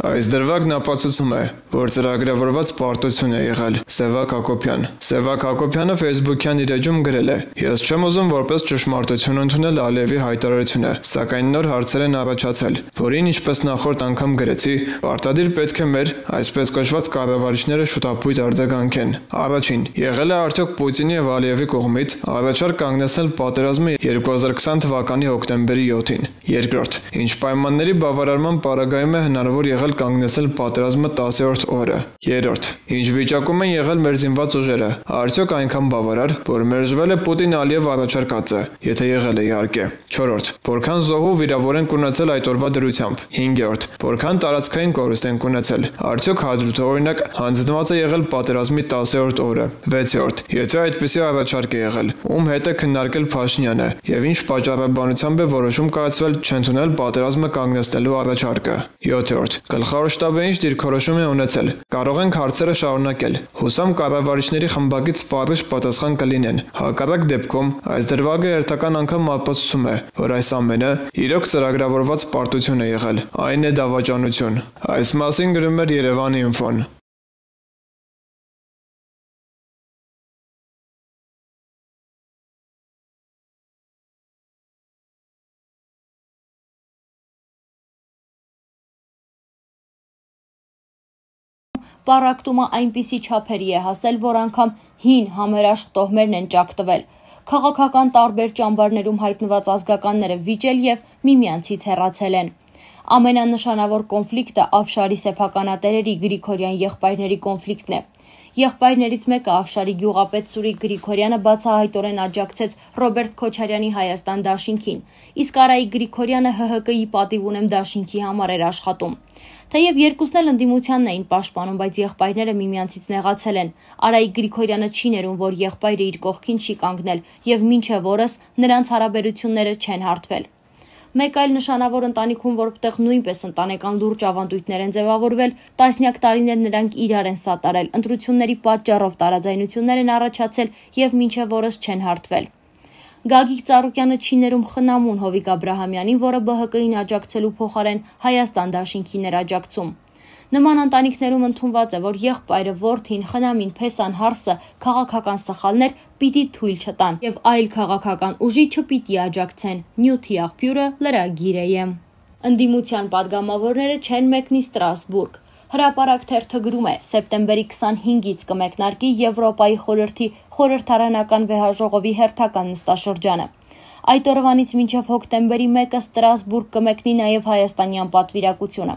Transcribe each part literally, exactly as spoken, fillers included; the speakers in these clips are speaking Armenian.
Այս դրվագն ապացուցում է, որ ծրագրավորված պարտություն է եղել Սևակ Հակոբյան։ Սևակ Հակոբյանը Facebook-յան իր էջում գրել է. «Ես չեմ ուզում որպես ճշմարտություն ընդունել Ալիևի հայտարարությունը, սակայն նոր հարցեր են առաջացել, որին ինչպես նախորդ անգամ գրեցի, պարտադիր պետք է մեր այսպես կոչված կառավարիչները շուտապույտ արձագանքեն։ Առաջին, եղել է արդյոք Պուտինի եւ Ալիևի կողմից առաջարկ կանգնեցնել պատերազմը երկու հազար քսան թվականի հոկտեմբերի յոթին։ Երկրորդ, ինչ պայմանների բավարարման պարագայում է հնարավոր եղել կանգնեցնել պատերազմը տասերորդ օրը։ Երրորդ, ինչ վիճակում են եղել մեր զինված ուժերը, արդյոք այնքան բավարար, որ մերժվել է Պուտին-Ալիև առաջարկածը, եթե եղել է իհարկե։ Չորրորդ, որքան զոհու վիրավոր են ունեցել այդ օրվա դրությամբ։ Հինգերորդ, որքան տարածքային կորուստ են ունեցել, արդյոք հադրութօրինակ հանձնված է եղել պատերազմի տասերորդ օրը։ Վեցերորդ, եթե այդպիսի առաջարկ է եղել, ում հետ է քննարկել Փաշինյանը եւ ինչ պատճառաբանությամբ է որոշում կայացվել չընդունել պատերազմը կանգնեցնելու առաջարկը։ Յոթերորդ, գլխավոր շտաբը ինչ դիրքորոշում է ունեցել։ Կարող ենք հարցերը շարունակել։ Հուսամ կառավարիչների խմբակից սպառիչ պատասխան կլինեն։ Հակառակ դեպքում այս դրվագը հերթական անգամ ապացուցում է, որ այս ամենը իրոք ծրագրավորված պարտություն է եղել։ Այն է դավաճանություն։ Այս մասին գրում էր Երևանի ինֆոն։ Պառակտումը այնպիսի չափերի է հասել, որ անգամ հին համերաշխ տոհմերն են ճակտվել։ Քաղաքական տարբեր ճամբարներում հայտնված ազգականները վիճել եւ միմյանցից հեռացել են։ Ամենանշանավոր կոնֆլիկտը Աֆշարի սեփականատերերի Գրիգորյան եղբայրների կոնֆլիկտն է։ Եղբայրներից մեկը Աֆշարի գյուղապետ Սուրիկ Գրիգորյանը բացահայտորեն աջակցեց Ռոբերտ Քոչարյանի Հայաստան դաշինքին, իսկ Արայիկ Գրիգորյանը Հ Հ Կի պատիվ ունեմ դաշինքի համար էր աշխատում։ Թեև երկուսն էլ ընդդիմությանն էին պաշտպանում, բայց եղբայրները միմյանցից նեղացել են։ Արայիկ Գրիգորյանը չի ներում, որ եղբայրը իր կողքին չի կանգնել, եւ մինչեւ օրս նրանց հարաբերությունները չեն հարթվել։ Մեկ այլ նշանավոր ընտանիքում, որտեղ նույնպես ընտանեկան լուրջ ավանդույթներ են ձևավորվել, տասնյակ տարիներ նրանք իրար են սատարել, ընտրությունների պատճառով տարաձայնություններ են առաջացել եւ մինչեւ օրս չեն հարթվել։ Գագիկ Ծառուկյանը չի ներում խնամուն Հովիկ Աբրահամյանին, որը Բ Հ Կին աջակցելու փոխարեն Հայաստան դաշինքին էր աջակցում։ Նման ընտանիքներում ընդունված է, որ եղբայրը, որդին, խնամին, փեսան, հարսը քաղաքական սխալներ պիտի թույլ չտան եւ այլ քաղաքական ուժի չպիտի աջակցեն։ Նյութի աղբյուրը լրագիր է։ Ընդդիմության падգամավորները չեն մեկնի Ստրասբուրգ։ Հրապարակ թերթը գրում է. սեպտեմբերի քսանհինգից կմեկնարկի Եվրոպայի խորհրդի խորհրդարանական վեհաժողովի հերթական նստաշրջանը։ Այդ օրվանից մինչև հոկտեմբերի մեկը Ստրասբուրգ կմեկնի նաև հայաստանյան պատվիրակությունը։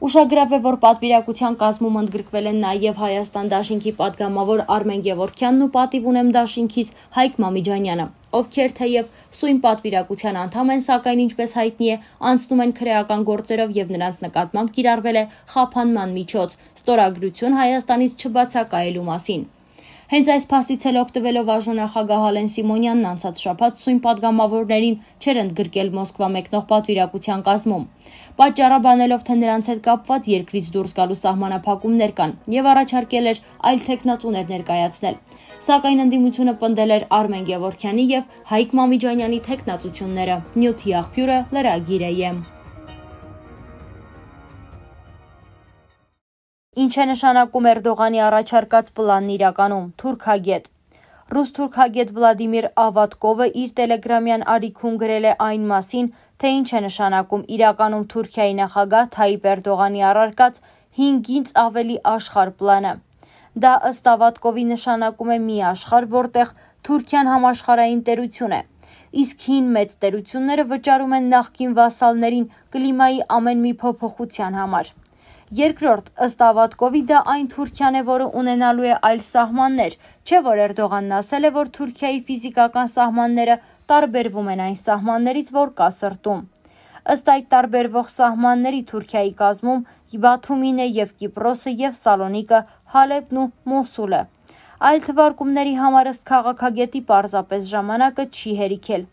Ուշագրավ է, որ պատվիրակության կազմում ընդգրկվել են նաև Հայաստան դաշինքի падգամավոր Արմեն Գևորգյանն ու պատիվ ունեմ դաշինքից Հայկ Մամիջանյանը, ովքեր թեև սույն պատվիրակության անդամ են, սակայն ինչպես հայտնի է, անցնում են քրեական գործերով եւ նրանց նկատմամբ կիրառվել է խափանման միջոց, ստորագրություն Հայաստանից չբացակայելու մասին։ Հենց այս փաստից էլ օգտվելով արժանախագահ Ալեն Սիմոնյանն անցած շաբաթ սույն падգամավորներին չէր ընդգրկել Մոսկվա մեկնող պատվիրակության կազմում, պատճառաբանելով, թե նրանց հետ կապված երկրից դուրս գալու սահմանափակումներ կան եւ առաջարկել էր այլ թեկնածուներ ներկայացնել։ Սակայն ընդդիմությունը պնդել էր Արմեն Գևորգյանի եւ Հայկ Մամիջանյանի թեկնածությունները։ Նյութի աղբյուրը լրագիր է։ Ինչ է նշանակում Էրդողանի առաջարկած պլանն իրականում։ Թուրքագետ Ռուս թուրքագետ Վլադիմիր Ավատկովը իր տելեգրամյան ալիքում գրել է այն մասին, թե ինչ է նշանակում իրականում Թուրքիայի նախագահ Թայիպ Էրդողանի առարկած հինգից ավելի աշխարհ պլանը։ Դա ըստ Ավատկովի նշանակում է մի աշխարհ, որտեղ Թուրքիան համաշխարհային տերություն է, իսկ հին մեծ տերությունները վճարում են նախկին վասալներին կլիմայի ամեն մի փոփոխության համար։ Երկրորդ, ըստ Ավատկովի, դա այն Թուրքիան է, որը ունենալու է այլ սահմաններ, չէ՞ որ Էրդողանն ասել է, որ Թուրքիայի ֆիզիկական սահմանները տարբերվում են այն սահմաններից, որ կա սրտում։ Ըստ այդ տարբերվող սահմանների Թուրքիայի կազմում Բաթումին է եւ Կիպրոսը եւ Սալոնիկը, Հալեբն ու Մոսուլը։ Այլ թվարկումների համար ըստ քաղաքագետի պարզապես ժամանակը չի հերիքել։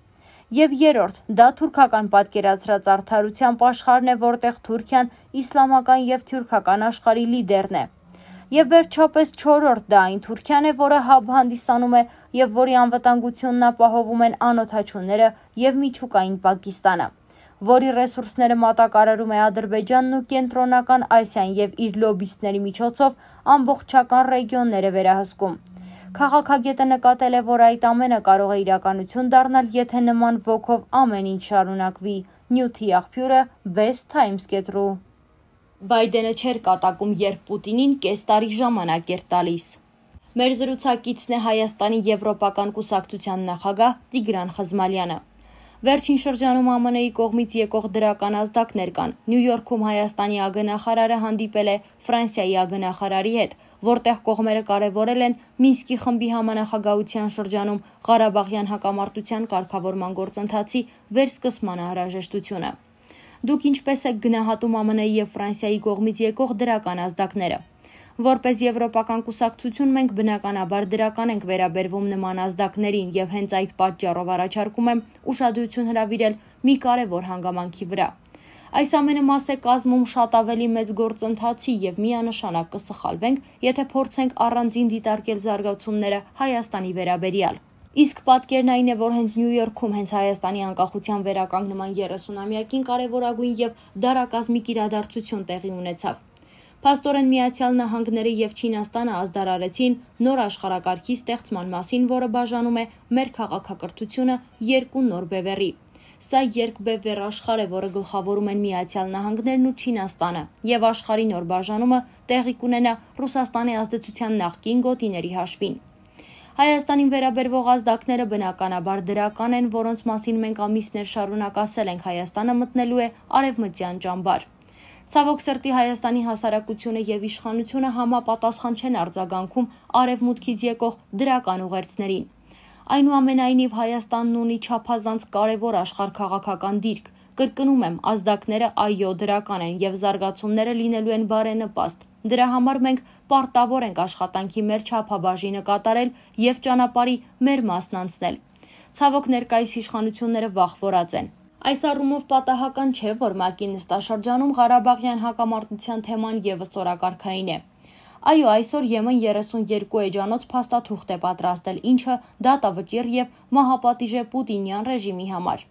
Եվ երրորդ, դա թուրքական պատկերացրած արդարության աշխարհն է, որտեղ Թուրքիան իսլամական եւ թուրքական աշխարհի լիդերն է։ Եվ վերջապես չորրորդ, դա այն Թուրքիան է, որը հաբ հանդիսանում է եւ որի անվտանգությունն ապահովում են անօթաչուները եւ միջուկային Պակիստանը։ որի ռեսուրսները մատակարարում է Ադրբեջանն ու Կենտրոնական Ասիան եւ իր լոբիստների միջոցով ամբողջական ռեգիոնները վերահսկում։ Քաղաքագետը նկատել է, որ այդ ամենը կարող է իրականություն դառնալ, եթե նման ոգով ամեն ինչ շարունակվի։ Նյութի աղբյուրը Best Times Get-ru։ Բայդենը չէր կատակում, երբ Պուտինին կես տարի ժամանակ էր տալիս։ Մեր զրուցակիցն է Հայաստանի Եվրոպական կուսակցության նախագահ Տիգրան Խզմալյանը։ Վերջին շրջանում ԱՄՆ -ի կողմից եկող դրական ազդակներ կան։ Նյու Յորքում Հայաստանի ագնախարարը հանդիպել է Ֆրանսիայի ագնախարարի հետ, որտեղ կողմերը կարևորել են Մինսկի խմբի համանախագահության շրջանում Ղարաբաղյան հակամարտության կարգավորման գործընթացի վերսկսման անհրաժեշտությունը։ Դուք ինչպես եք գնահատում ԱՄՆ-ի եւ Ֆրանսիայի կողմից եկող դրական ազդակները։ Որպես Եվրոպական կուսակցություն մենք բնականաբար դրական ենք վերաբերվում նման ազդակներին եւ հենց այդ պատճառով առաջարկում եմ ուշադրություն հրավիրել մի կարևոր հանգամանքի վրա։ Այս ամենը մաս է կազմում շատ ավելի մեծ գործընթացի եւ միանշանակ կսխալվենք, եթե փորձենք առանձին դիտարկել զարգացումները Հայաստանի վերաբերյալ։ Իսկ պատկերն այն է, որ հենց Նյու Յորքում հենց Հայաստանի անկախության վերականգնման երեսունամյակին կարևորագույն եւ դարակազմիկ իրադարձություն տեղի ունեցավ։ Փաստորեն Միացյալ Նահանգները եւ Չինաստանը ազդարարեցին նոր աշխարհակարգի ստեղծման մասին, որը բաժանում է մեր քաղաքակրթությունը երկու նոր բևեռի։ Սա երկբևեռ աշխարհ է, որը գլխավորում են Միացյալ Նահանգներն ու Չինաստանը, եւ աշխարհի նոր բաժանումը տեղի կունենա Ռուսաստանի ազդեցության նախկին գոտիների հաշվին։ Հայաստանին վերաբերվող ազդակները բնականաբար դրական են, որոնց մասին մենք ամիսներ շարունակ ասել ենք Հայաստանը մտնելու է արևմտյան ճամբար։ Ցավոք սրտի Հայաստանի հասարակությունը եւ իշխանությունը համապատասխան չեն արձագանքում արևմուտքից եկող դրական ուղերձներին։ Այնուամենայնիվ Հայաստանն ունի չափազանց կարևոր աշխարհքաղաքական դիրք։ Կրկնում եմ, ազդակները այո դրական են եւ զարգացումները լինելու են բարենպաստ։ Դրա համար մենք պարտավոր ենք աշխատանքի մեր չափաբաժինը կատարել եւ ճանապարհի մեր մասն անցնել։ Ցավոք ներկայիս իշխանությունները վախվորած են։ Այս առումով պատահական չէ, որ ՄԱԿ-ի նստաշրջանում Ղարաբաղյան հակամարտության թեման եւս օրակարգային է։ Այո, այսօր Եմեն երեսունյոթ էջանոց փաստաթուղթ է պատրաստել, ինչը դատավճիռ եւ մահապատիժ է Պուտինյան ռեժիմի համար։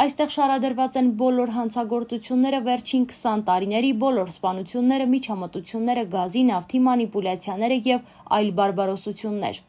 Այստեղ շարադրված են բոլոր հանցագործությունները վերջին քսան տարիների, բոլոր սպանությունները, միջամտությունները, գազի, նավթի մանիպուլյացիաները եւ այլ բարբարոսություններ։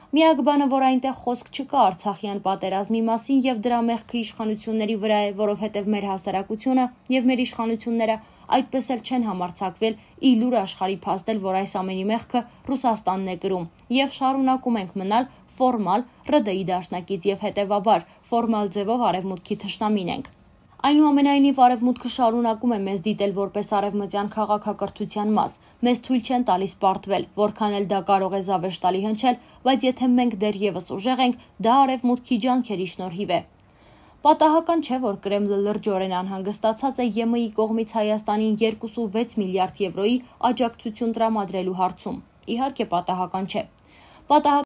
Միակ բանը, որ այնտեղ խոսք չկա Արցախյան պատերազմի մասին եւ դրա մեղքը իշխանությունների վրա է, որովհետեւ մեր հասարակությունը եւ մեր իշխանությունները այդպես էլ չեն համարձակվել ի լուր աշխարհի փաստել, որ այս ամենի մեղքը Ռուսաստանն է կրում եւ շարունակում ենք մնալ ֆորմալ ՌԴ դաշնակից եւ հետեւաբար ֆորմալ ձևով արևմուտքի թշնամին ենք։ Այնուամենայնիվ արևմուտքը շարունակում է մեզ դիտել որպես արևմտյան քաղաքակրթության մաս։ Մեզ թույլ չեն տալիս պարտվել, որքան էլ դա կարող է զավեշտալի հնչել, բայց եթե մենք դեռևս ուժեղ ենք, դա արևմուտքի ջանքերի շնորհիվ է։ Պատահական չէ, որ Կրեմլը լրջորեն անհանգստացած է ԵՄ-ի կողմից Հայաստանին երկուսունվեց միլիարդ եվրոյի աջակցություն տրամադրելու հարցում։ Իհարկե պատահական չէ։ Պատահական